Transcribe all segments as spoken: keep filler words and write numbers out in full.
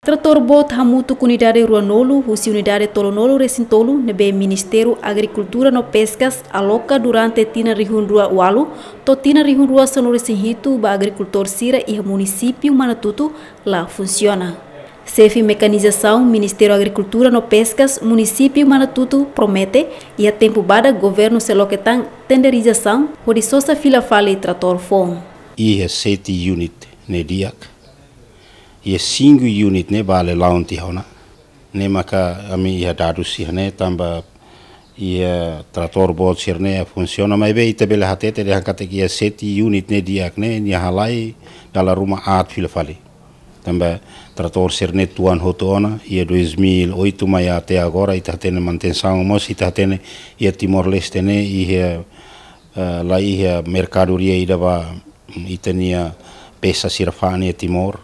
Tratór boot hamutuk unidade ruanulu husi unidade tolunulu resin tolu ne'ebé Ministériu Agrikultura no Peskas aloka durante tinan rihun rua ualu to'o tinan rihun rua sanulu resin hitu ba agrikultór sira iha munisípiu Manatutu la funsiona. Xefe mekanizasaun Ministériu Agrikultura no Peskas munisípiu Manatutu promete iha tempu badak governu sei loke tan tenderizasaun hodi sosa fila fali tratór foun. Iha sete unit ne'e di'ak. Iha cinco unit ne'e bele la'o tiha ona. Ne'e maka ami iha dadus sira-ne'e tanba iha tratór boot sira-ne'e funsiona, maibé ita bele hatete dehan katak iha sete unit ne'e di'ak ne'e nia halai dala ruma aat fila fali. Tanba tratór sira-ne'e tuan hotu ona, iha dois mil e oito mai até agora, ita hatene manutensaun mós, ita hatene iha Timor-Leste ne'e, iha, eh, la iha merkadoria ida ba ita-nia pesa sira fa'an iha Timor,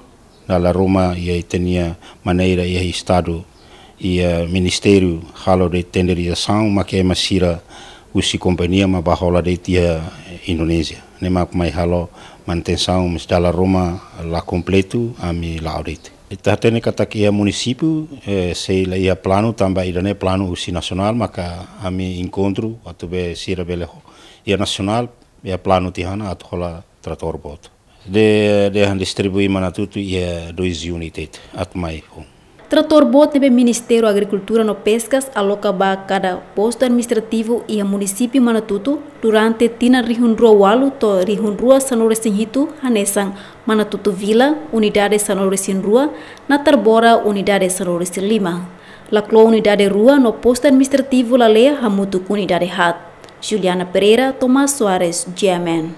dala ruma iha ita-nia maneira iha Estadu, iha Ministériu halo de'it tenderizasaun, mak ema sira husi kompañia mak bá hola de'it iha Indonézia. Ne'e mak mai halo manutensaun, mas dala ruma la kompletu, ami la'o de'it. Ita hatene katak iha munisípiu, eh, sei la iha planu tanba ida-ne'e planu husi nasionál, maka ami enkontru atu be sira bele ho-, iha nasionál, iha planu tiha ona atu hola tratór boot. De, dehan distribui Manatutu iha dois unit atu mai foun. Tratór boot ne'ebé Ministériu Agrikultura no Peskas aloka ba kada postu administrativu iha munisípiu Manatutu durante tinan rihun rua ualu to'o rihun rua sanulu resin hitu hanesan Manatutu Vila, unidade sanulu resin rua, Natarbora, unidade sanulu resin lima. Laclo, unidade rua no postu administrativu Laleia hamutuk unidade haat. Juliana Pereira, Tomás Soares, G M N.